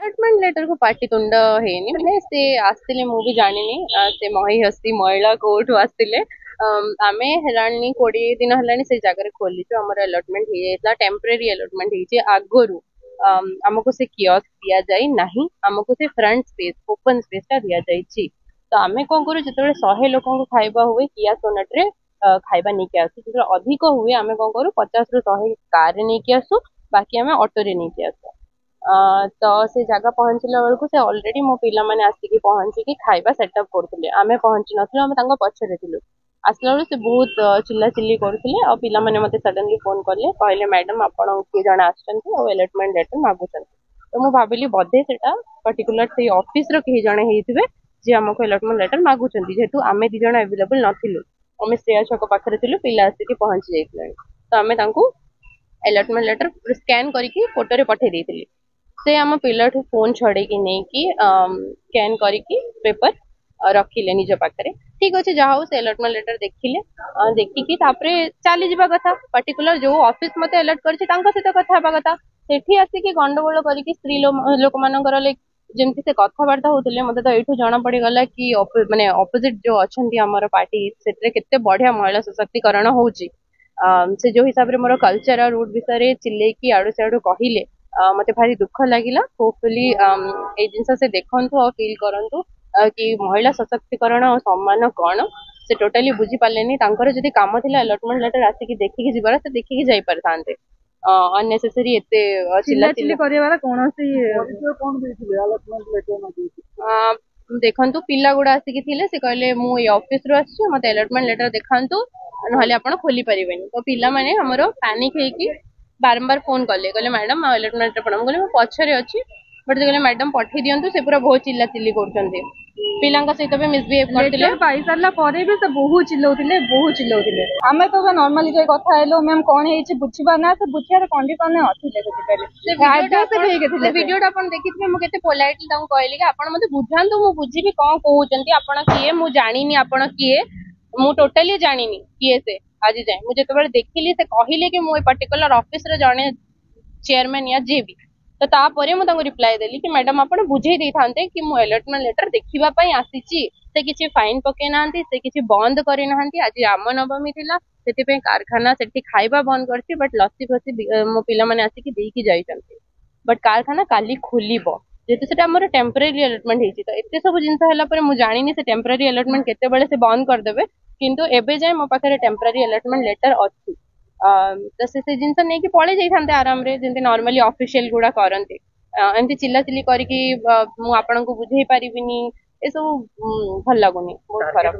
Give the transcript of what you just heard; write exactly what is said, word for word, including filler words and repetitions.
Allotment ଲେଟରକୁ ପାଟିତୁଣ୍ଡ ହେଇନି, ମାନେ ସେ ଆସିଥିଲେ, ମୁଁ ବି ଜାଣିନି ସେ ମହି ହସ୍ତି ମହିଳା କୋଉଠୁ ଆସିଥିଲେ। ଆମେ ହେଲାଣି କୋଡିଏ ଦିନ ହେଲାଣି ସେ ଜାଗାରେ ଖୋଲିଛୁ। ଆମର ଆଲଟମେଣ୍ଟ ହେଇଯାଇଥିଲା, ଟେମ୍ପୋରାରୀ ଆଲଟମେଣ୍ଟ ହେଇଛି ଆଗରୁ। ଆମକୁ ସେ କିଅସ୍କ ଦିଆଯାଇ ନାହିଁ, ଆମକୁ ସେ ଫ୍ରଣ୍ଟ ସ୍ପେସ୍, ଓପନ ସ୍ପେସ୍ ଟା ଦିଆଯାଇଛି। ତ ଆମେ କଣ କରୁ, ଯେତେବେଳେ ଶହେ ଲୋକଙ୍କୁ ଖାଇବା ହୁଏ, କିଆ ସୋନେଟରେ ଖାଇବା ନେଇକି ଆସୁ। ଯେତେବେଳେ ଅଧିକ ହୁଏ, ଆମେ କଣ କରୁ, ପଚାଶରୁ ଶହେ କାରରେ ନେଇକି ଆସୁ, ବାକି ଆମେ ଅଟୋରେ ନେଇକି ଆସୁ। ତ ସେ ଜାଗା ପହଞ୍ଚିଲା ବେଳକୁ ସେ ଅଲରେଡି ମୋ ପିଲାମାନେ ଆସିକି ପହଞ୍ଚିକି ଖାଇବା ସେଟଅପ୍ କରୁଥିଲେ। ଆମେ ପହଞ୍ଚି ନଥିଲୁ, ଆମେ ତାଙ୍କ ପଛରେ ଥିଲୁ। ଆସିଲା ବେଳକୁ ସେ ବହୁତ ଚିଲ୍ଲା ଚିଲ୍ଲି କରୁଥିଲେ ଆଉ ପିଲାମାନେ ମତେ ସଡନଲି ଫୋନ କଲେ, କହିଲେ ମ୍ୟାଡାମ, ଆପଣ କିଏ ଜଣେ ଆସିଛନ୍ତି ଆଉ ଆଲଟମେଣ୍ଟ ଲେଟର ମାଗୁଛନ୍ତି। ତ ମୁଁ ଭାବିଲି ବୋଧେ ସେଟା ପର୍ଟିକୁଲାର ସେଇ ଅଫିସର କେହି ଜଣେ ହେଇଥିବେ, ଯିଏ ଆମକୁ ଆଲଟମେଣ୍ଟ ଲେଟର ମାଗୁଛନ୍ତି। ଯେହେତୁ ଆମେ ଦି ଜଣ ଆଭେଲେବଲ ନଥିଲୁ, ଆମେ ଶ୍ରେୟା ଛକ ପାଖରେ ଥିଲୁ, ପିଲା ଆସିକି ପହଞ୍ଚି ଯାଇଥିଲେଣି। ତ ଆମେ ତାଙ୍କୁ ଆଲଟମେଣ୍ଟ ଲେଟର ସ୍କାନ କରିକି ଫଟୋରେ ପଠେଇ ଦେଇଥିଲି। ସେ ଆମ ପିଲାଠୁ ଫୋନ ଛଡେଇକି ନେଇକି ସ୍କାନ କରିକି ପେପର ରଖିଲେ ନିଜ ପାଖରେ। ଠିକ ଅଛି, ଯାହା ହଉ, ସେ ଆଲଟମେଣ୍ଟ ଲେଟର ଦେଖିଲେ। ଦେଖିକି ତାପରେ ଚାଲିଯିବା କଥା, ପର୍ଟିକୁଲାର ଯୋଉ ଅଫିସ ମତେ ଆଲର୍ଟ କରିଛି ତାଙ୍କ ସହିତ କଥା ହେବା କଥା। ସେଠି ଆସିକି ଗଣ୍ଡଗୋଳ କରିକି ସ୍ତ୍ରୀ ଲୋକମାନଙ୍କର ଲାଇକ ଯେମିତି ସେ କଥାବାର୍ତ୍ତା ହଉଥିଲେ, ମତେ ତ ଏଇଠୁ ଜଣା ପଡିଗଲା କି ମାନେ ଅପୋଜିଟ ଯୋଉ ଅଛନ୍ତି ଆମର ପାର୍ଟି, ସେଥିରେ କେତେ ବଢିଆ ମହିଳା ସଶକ୍ତିକରଣ ହଉଛି। ସେ ଯୋଉ ହିସାବରେ ମୋର କଲଚର ଆଉ ରୁଟ ବିଷୟରେ ଚିଲେଇକି ଆଡୁ ସିଆଡୁ କହିଲେ, ମତେ ଭାରି ଦୁଃଖ ଲାଗିଲା। ହୋପଫୁଲି ଏଇ ଜିନିଷ ସେ ଦେଖନ୍ତୁ ଆଉ ଫିଲ୍ କରନ୍ତୁ କି ମହିଳା ସଶକ୍ତିକରଣ ଆଉ ସମ୍ମାନ କଣ। ସେ ଟୋଟାଲି ବୁଝିପାରିଲେନି। ତାଙ୍କର ଯଦି କାମ ଥିଲା ଆଲଟମେଣ୍ଟ ଲେଟର ଆସିକି ଦେଖିକି ଯିବାର, ସେ ଦେଖିକି ଯାଇପାରିଥାନ୍ତେ। ଅନନେସେସରି ଏତେ ଚିଲ୍ଲା କରିବାର କୌଣସି ଦେଖନ୍ତୁ, ପିଲା ଗୁଡା ଆସିକି ଥିଲେ, ସେ କହିଲେ ମୁଁ ଏଇ ଅଫିସରୁ ଆସିଛି, ମତେ ଆଲଟମେଣ୍ଟ ଲେଟର ଦେଖାନ୍ତୁ, ନହେଲେ ଆପଣ ଖୋଲି ପାରିବେନି। ତ ପିଲାମାନେ ଆମର ପାନିକ ହେଇକି ବାରମ୍ବାର ଫୋନ କଲେ, କହିଲେ ମ୍ୟାଡାମ, ଆଉ ଆଲଟମେଣ୍ଟ ଲେଟର। ମୁଁ କହିଲି ମୁଁ ପଛରେ ଅଛି। ବଟ୍ ସେ କହିଲେ ମ୍ୟାଡାମ, ପଠେଇ ଦିଅନ୍ତୁ, ସେ ପୁରା ବହୁତ ଚିଲ୍ଲା ଚିଲ୍ଲି କରୁଛନ୍ତି। ପିଲାଙ୍କ ସହିତ ବି ମିସବିହେଭ କରିଥିଲେ। ପାଇସାରିଲା ପରେ ବି ସେ ବହୁତ ଚିଲଉଥିଲେ, ବହୁତ ଚିଲଉଥିଲେ। ଆମେ ତ ନର୍ମାଲି ଯାଇ କଥା ହେଲୁ, ମ୍ୟାମ, କଣ ହେଇଛି ବୁଝିବା ନା, ସେ ବୁଝିବାର କଣ୍ଡିସନରେ ନଥିଲେ, ବୁଝିପାରିଲେ? ସେ ଭିଡିଓଟା ଆପଣ ଦେଖିଥିବେ, ମୁଁ କେତେ ପୋଲାଇଟଲି ତାଙ୍କୁ କହିଲି କି ଆପଣ ମତେ ବୁଝାନ୍ତୁ, ମୁଁ ବୁଝିବି କଣ କହୁଛନ୍ତି। ଆପଣ କିଏ ମୁଁ ଜାଣିନି, ଆପଣ କିଏ ମୁଁ ଟୋଟାଲି ଜାଣିନି କିଏ ସେ ଆଜି ଯାଏଁ। ମୁଁ ଯେତେବେଳେ ଦେଖିଲି ସେ କହିଲେ କି ମୁଁ ଏ ପର୍ଟିକୁଲାର ଅଫିସର ଜଣେ ଚେୟାରମ୍ୟାନ ୟା ଯିଏ ବି, ତ ତାପରେ ମୁଁ ତାଙ୍କୁ ରିପ୍ଲାଏ ଦେଲି କି ମ୍ୟାଡାମ, ଆପଣ ବୁଝେଇ ଦେଇଥାନ୍ତେ କି ମୁଁ ଆଲଟମେଣ୍ଟ ଲେଟର ଦେଖିବା ପାଇଁ ଆସିଛି। ସେ କିଛି ଫାଇନ ପକେଇ ନାହାନ୍ତି, ସେ କିଛି ବନ୍ଦ କରିନାହାନ୍ତି। ଆଜି ରାମ ନବମୀ ଥିଲା, ସେଥିପାଇଁ କାରଖାନା ସେଠି ଖାଇବା ବନ୍ଦ କରିଛି, ବଟ୍ ଲସି ଫସି ମୋ ପିଲାମାନେ ଆସିକି ଦେଇକି ଯାଇଛନ୍ତି। ବଟ୍ କାରଖାନା କାଲି ଖୋଲିବ, ଯେହେତୁ ସେଟା ଆମର ଟେମ୍ପୋରାରୀ ଆଲଟମେଣ୍ଟ ହେଇଛି। ତ ଏତେ ସବୁ ଜିନିଷ ହେଲା ପରେ ମୁଁ ଜାଣିନି ସେ ଟେମ୍ପୋରାରୀ ଆଲଟମେଣ୍ଟ କେତେବେଳେ ସେ ବନ୍ଦ କରିଦେବେ, କିନ୍ତୁ ଏବେ ଯାଏ ମୋ ପାଖରେ ଟେମ୍ପୋରାରୀ ଆଲଟମେଣ୍ଟ ଲେଟର ଅଛି। ତ ସେ ସେ ଜିନିଷ ନେଇକି ପଳେଇ ଯାଇଥାନ୍ତେ ଆରାମରେ, ଯେମିତି ନର୍ମାଲି ଅଫିସିଆଲ ଗୁଡା କରନ୍ତି। ଏମିତି ଚିଲ୍ଲା ଚିଲ୍ଲି କରିକି ମୁଁ ଆପଣଙ୍କୁ ବୁଝେଇ ପାରିବିନି, ଏସବୁ ଭଲ ଲାଗୁନି, ବହୁତ ଖରାପ।